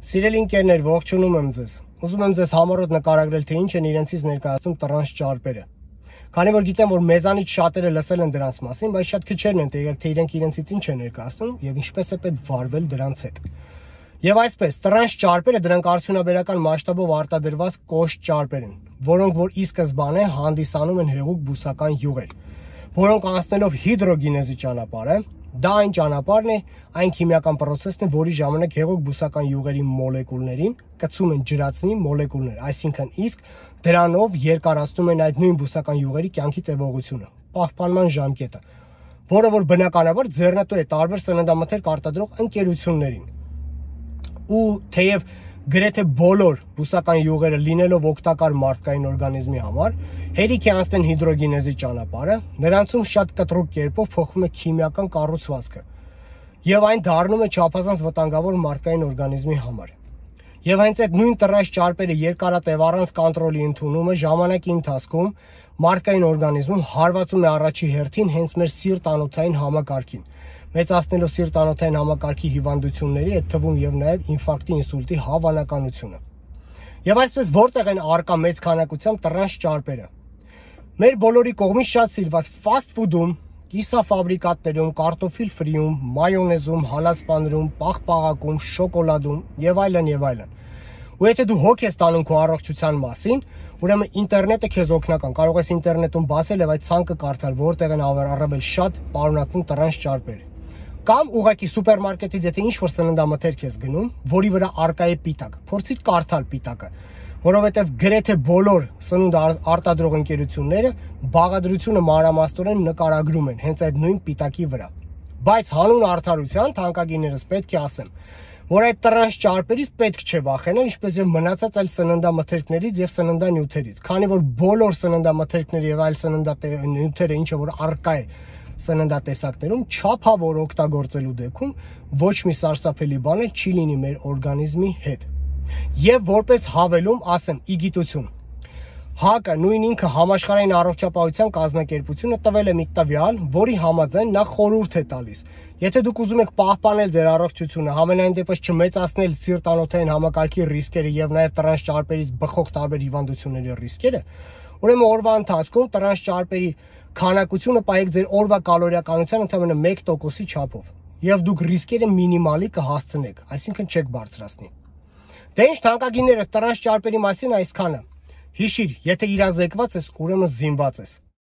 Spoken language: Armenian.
Սիրելի ընկերներ, ողջունում եմ ձեզ։ Ուզում եմ ձեզ համառոտ նկարագրել, թե ինչ են իրենցից ներկայացնում տրանս ճարպերը։ Քանի որ գիտեմ, որ մեզանից շատերը լսել են դրանց մասին, բայց շատ քչերն են տեղյակ, թե իրենք իրենցից ինչ են ներկայացնում եւ ինչպես է պետք վարվել դրանց հետ։ Եվ այսպես, տրանս ճարպերը դրանք արդյունաբերական մասշտաբով արտադրված կոշտ ճարպեր են, որոնք որ ի սկզբանե հանդիսանում են հեղուկ բուսական յուղեր, որոնք անցնելով հիդրոգենեզի ճանապարհը, դա այն ճանապարհն է, այն քիմիական process-ն է, որի ժամանակ հեղուկ բուսական յուղերի մոլեկուլներին կծում են ջրածնի մոլեկուլներ, այսինքն իսկ դրանով երկարացնում են այդ նույն բուսական յուղերի կյանքի տևողությունը, պահպանման ժամկետը, որը որ բնականաբար ձեռնտու է տարբեր սննդամթերք արտադրող ընկերություններին։ Ու թեև գրեթե բոլոր բուսական յուղերը լինելով օգտակար մարդկային օրգանիզմի համար, հերիք է անցնեն հիդրոգենեզի ճանապարհը, նրանցում շատ կտրուկ կերպով փոխվում է քիմիական կառուցվածքը, եւ այն դառնում է չափազանց վտանգավոր մարդկային օրգանիզմի համար։ Եվ հենց այդ նույն տրանս ճարպերը երկարատև առանց կոնտրոլի ընդունումը ժամանակի ընթացքում մարդկային օրգանիզմում հարվածում է առաջի հերթին հենց մեր սիրտ-անոթային համակարգին, մեծացնելով սիրտ-անոթային համակարգի հիվանդությունների, այդ թվում եւ նաեւ ինֆարկտի, ինսուլտի հավանականությունը։ Եվ այսպես որտեղ են արկա մեծ քանակությամբ տրանս ճարպերը։ Մեր բոլորի կողմից շատ սիրված ֆաստ ֆուդում, կիսաֆաբրիկատներում, կարտոֆիլ ֆրիում, մայոնեզում, հալածպաներում, պաղպաղակում, շոկոլադում եւ այլն եւ այլն։ Ու եթե դու հոգ ես տանում քո առողջության մասին, ուրեմն ինտերնետը քեզ օգնական, կարող ես ինտերնետում բացել եւ այդ ցանկը կարդալ, որտեղ են առավել շատ պարունակվում տրանս ճարպեր։ Կամ ուղղակի սուպերմարկետից եթե ինչ-որ սննդամթերք ես գնում, որի վրա արկա է պիտակ, փորձիր կարդալ պիտակը, որովհետև գրեթե բոլոր սնունդ արտադրող ընկերությունները բաղադրությունը մանրամասնորեն նկարագրում են հենց այդ նույն պիտակի վրա։ Բայց հանուն արդարության թանկագիներս պետք է ասեմ, որ այդ տրանս ճարպերից պետք չէ վախենալ, ինչպես եւ մնացած այլ սննդամթերքներից եւ սննդանյութերից, քանի որ բոլոր սննդամթերքները եւ այլ սննդանյութերը, ինչը որ արկա է սննդատեսակներում, չափավոր օգտագործելու դեպքում ոչ մի սարսափելի բան չի լինի մեր օրգանիզմի հետ։ Եվ որպես հավելում ասեմ, ի գիտություն, ՀԱԿ-ը նույն ինքը համաշխարհային առողջապահության կազմակերպությունը տվել է մի տվյալ, որի համաձայն նա խորհուրդ է տալիս, եթե դուք ուզում եք պահպանել ձեր առողջությունը, համենայն դեպս չմեծացնել սիրտ-անոթային համակարգի ռիսկերը եւ նաեւ տրանս ճարպերից բխող տարբեր հիվանդությունների ռիսկերը, ուրեմն օրվա ընթացքում տրանս ճարպերի քանակությունը պահեք ձեր օրվա կալորիականության ընդամենը 1%-ի չափով, եւ դուք ռիսկերը մինիմալի կհասցնեք, այսինքն չեք բարձրացնի։ Դե ինչ թանկագինները, տրանս ճարպերի մասին այսքանը։ Հիշիր, եթե իրազեկված ես, ուրեմն զինված ես։